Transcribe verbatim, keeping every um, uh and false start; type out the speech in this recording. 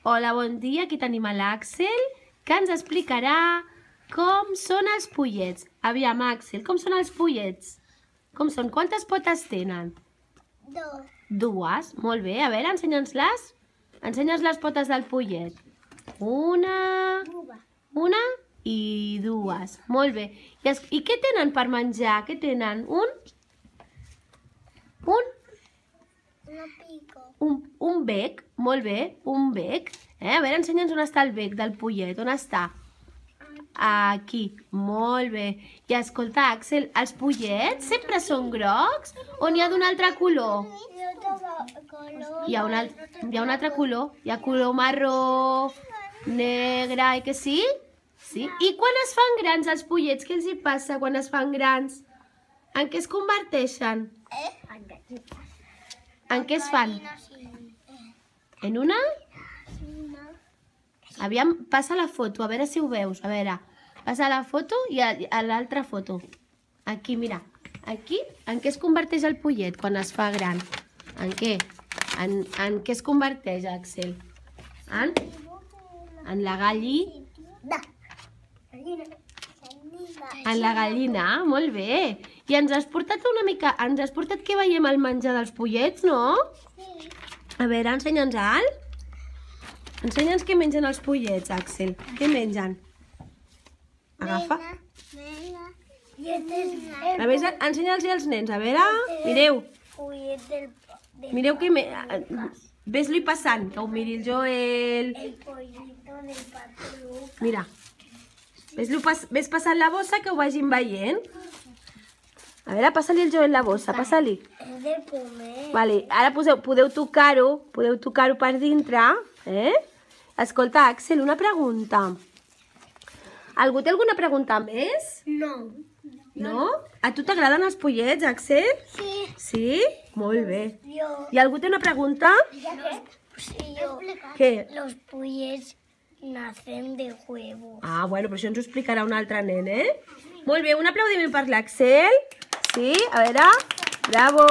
Hola, bon dia. Aquí tenim l'Àxel, que ens explicarà com són els pollets. Aviam, Àxel, com són els pollets? Com són? Quantes potes tenen? Dos. Dues. Molt bé. A veure, ensenya'ns-les. Ensenya'ns les potes del pollet. Una... Una i dues. Molt bé. I, es... I què tenen per menjar? Què tenen? Un... Un... Un, un bec. Molt bé. Un bec. Eh? A veure, ensenya'ns on està el bec del pollet. On està? Aquí. Molt bé. I escolta, Àxel, els pollets sempre són grocs o n'hi ha d'un altre color? Hi ha un, altre, hi ha un altre color. Hi ha color marró, negre, i que sí? Sí. I quan es fan grans els pollets, què els hi passa quan es fan grans? En què es converteixen? En què es fan? En una? Aviam, passa la foto, a veure si ho veus. A veure, passa la foto i a, a l'altra foto. Aquí, mira. Aquí, en què es converteix el pollet quan es fa gran? En què? En, en què es converteix, Àxel? En? En la gallina. En la gallina, molt bé. I ens has portat una mica... Ens has portat que veiem el menjar dels pollets, no? Sí. A veure, ensenya'ns al. Ensenya'ns què mengen els pollets, Àxel. Què mengen? Agafa. A veure, ensenya'ls als nens. A veure, mireu. Mireu que... Me... Ves-li passant, que ho miri el Joel. Mira. Ves passant la bossa que ho vagin veient. A veure, passa-li el Joel la bossa, passa-li. Vale, ara poseu, podeu tocar-ho, podeu tocar-ho per dintre, eh? Escolta, Àxel, una pregunta. Algú té alguna pregunta més? No. No? A tu t'agraden els pollets, Àxel? Sí. Sí? Molt bé. Jo. I algú té una pregunta? Sí, jo. Què? Los pollets nacen de huevos. Ah, bueno, però això ens ho explicarà un altre nen, eh? Molt bé, un aplaudiment per l'Àxel. Sí, a veure. Bravo!